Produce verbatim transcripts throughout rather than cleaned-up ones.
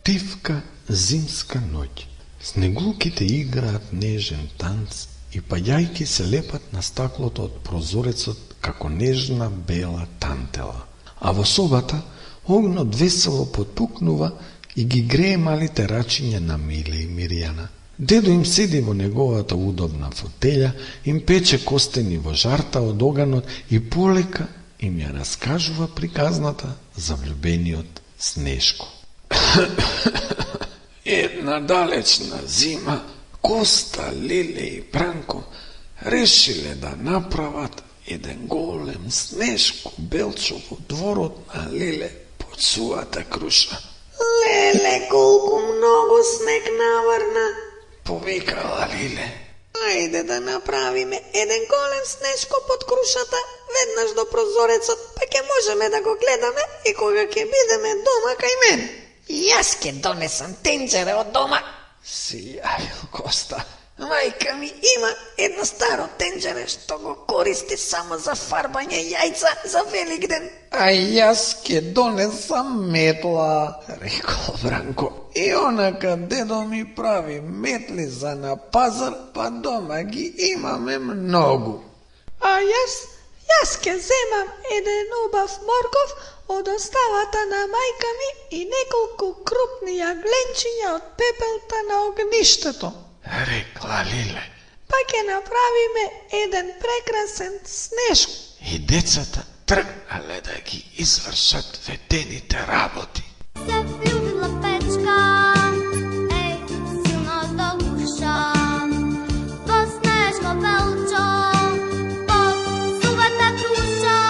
Тивка зимска ноќ. Снегулките играат нежен танц и паѓајки се лепат на стаклото од прозорецот како нежна бела тантела. А во собата огнот весело потпукнува и ги грее малите рачиња на Миле и Мирјана. Дедо им седи во неговата удобна фотелја, им пече костени во жарта од оганот и полека им ја раскажува приказната за влюбениот Снешко. Една далечна зима Коста, Лиле и Бранко решиле да направат еден голем Снешко Белчо во дворот на Лиле под суата круша. Леле, колку многу снег наврна, повикала Лиле. Ајде да направиме еден голем Снешко под крушата, веднаш до прозорецот, па ќе можеме да го гледаме и кога ќе бидеме дома кај мен. Јас ќе донесам тенџере од дома, си јавил Коста. Мајка ми има едно старо тенџере што го користи само за фарбање јајца за Великден. А јас ќе донесам метла, рекол Бранко. И онака дедо ми прави метли за на пазар, па дома ги имаме многу. А јас, јас ќе земам еден убав морков од оставата на мајка ми и неколку крупни јагленчиња од пепелта на огништето, рекла Лиле. Па ќе направиме еден прекрасен Снешко. И децата тргнале да ги извршат ведените работи. Се влюбила Печка, еј, силно до гуша, во Снешко Белчо, под сувата круша.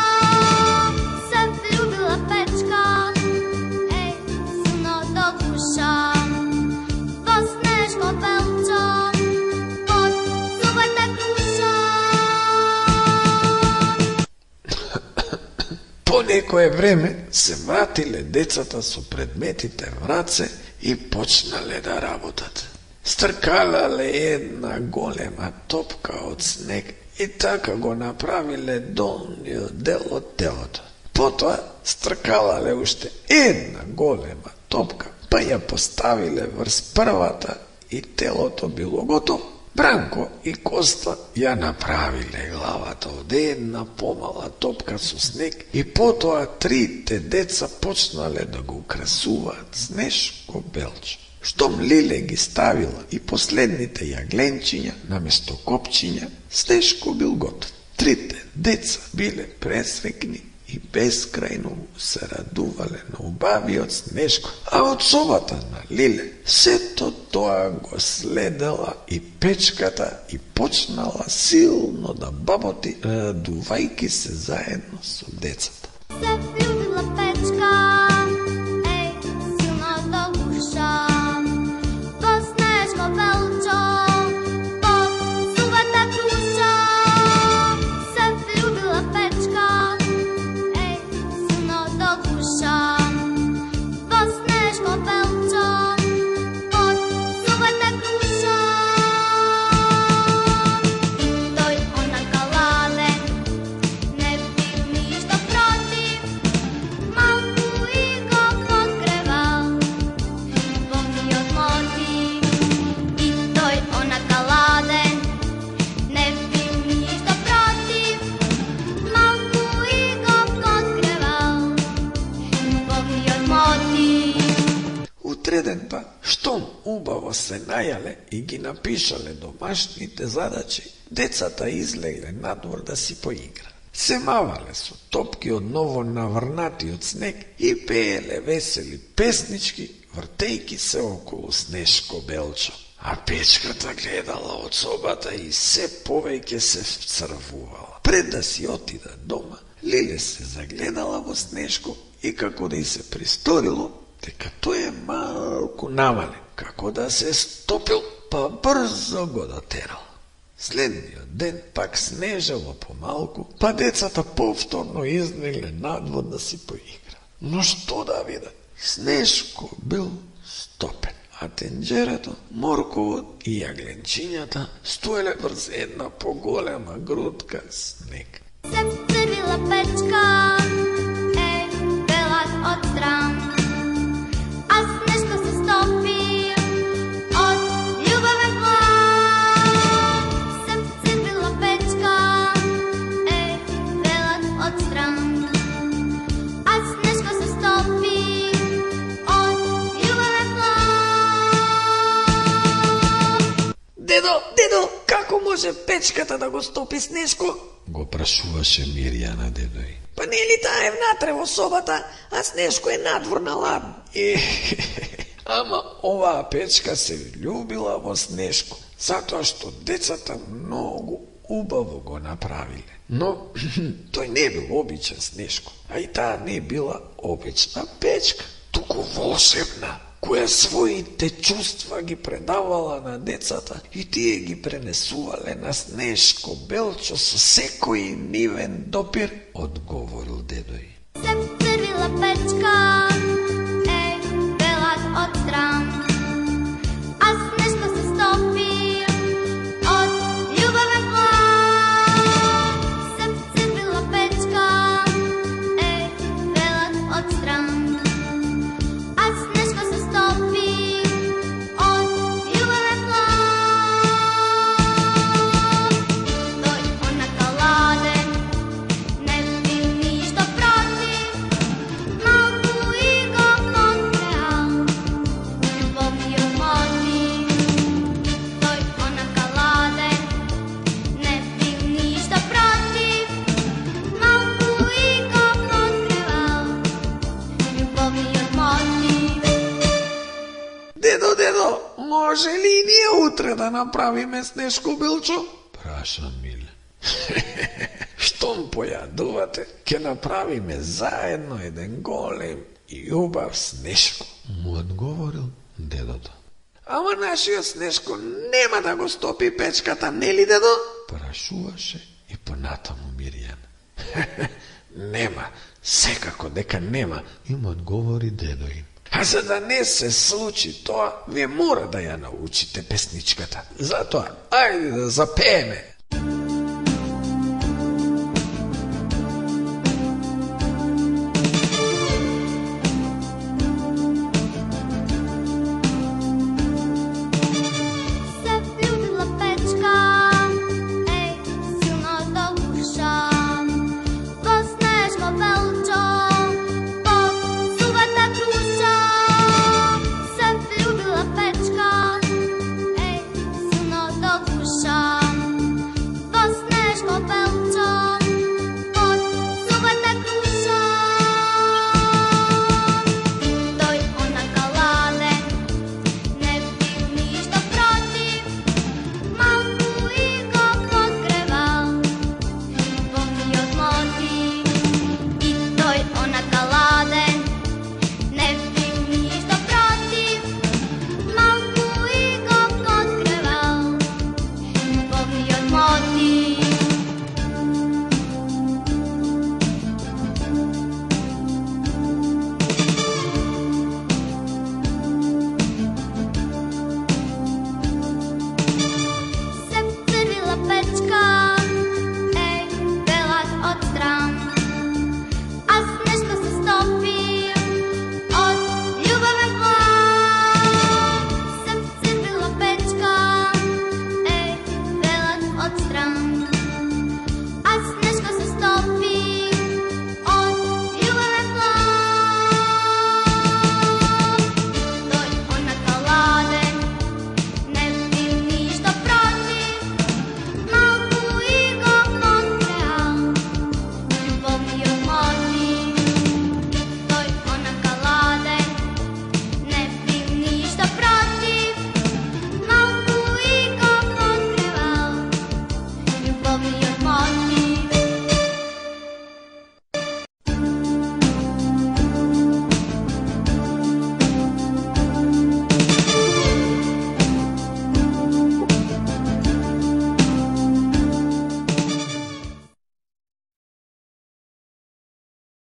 Се влюбила Печка, еј, силно до гуша, во Снешко Белчо, под сувата круша. По некое време се вратиле децата со предметите в раце и почнале да работат. Стркалале една голема топка од снег и така го направиле долниот дел од телото. Потоа стркалале уште една голема топка, па ја поставиле врз првата и телото било готово. Бранко и Коста ја направиле главата од една помала топка со снег и потоа трите деца почнале да го украсуваат Снешко Белчо. Штом Лиле ги ставила и последните јагленчиња наместо копчиња, Снешко бил готов. Трите деца биле пресрекни и бескрајно се радувале на убавиот Снешко, а од собата на Лиле сето тоа го следела и Печката и почнала силно да баботи, радувајки се заедно со децата. Се влюбила Печка, еј, силно до гуша, во Снешко Белчо, под сувата круша. Се влюбила Печка, еј, силно до гуша, во Снешко Белчо, под сувата круша. И тој онака ладен, не бил ништо против, малку и го погревал любовниот мотив. И тој онака ладен, не бил ништо против, малку и го погревал любовниот мотив. Утреден па, штом убаво се најале и ги напишале домашните задачи, децата излегле надвор да си поигра. Се мавале со топки од ново наврнатиот снег и пееле весели песнички, вртејки се околу Снешко Белчо. А Печката гледала од собата и се повеќе се вцрвувала. Пред да си отида дома, Лиле се загледала во Снешко и како да и се присторило дека тој е малку намален, како да се стопил, па брзо го дотерал. Следниот ден пак снежало помалку, па децата повторно излегле надвор да си поигра. Но што да видат? Снешко бил стопен, а тенџерето, морковот и јагленчињата стоеле врз една поголема грудка снег. Се црвила Печка, еј, белак од стран, а Снешко се Дедо, дедо, како може печката да го стопи Снешко? Го прашуваше Мирјана дедој. Па нели таа е внатре во собата, а Снешко е надвор на ладно. Е, ама оваа печка се љубила во Снешко, затоа што децата многу убаво го направиле. Но тој не бил обичен Снешко, а и таа не била обична печка, туку волшебна, која своите чувства ги предавала на децата и тие ги пренесувале на Снешко Белчо со секој нивен допир, одговорил дедој. Се вцрвила печка, е, белат од трам, а Снешко се стопи од љубавен план. Се вцрвила печка, е, белат од трам, а Снешко се стопи од љубавен план. Тој онака ладен, не бил ништо против, малку и го подгреал љубовниот мотив. Тој онака ладен, не бил ништо против, малку и го подгреал љубовниот мотив. Дедо, дедо, може ли и ние утре да направиме Снешко Белчо? Праша Миле. Штом појадувате, ќе направиме заедно еден голем и убав Снешко, му одговорил дедото. Ама нашиот Снешко нема да го стопи печката, нели дедо? Прашуваше и понатаму Мирјана. Нема, секако дека нема, им одговори дедо им. А за да не се случи тоа, вие мора да ја научите песничката. Затоа, ајде да запееме.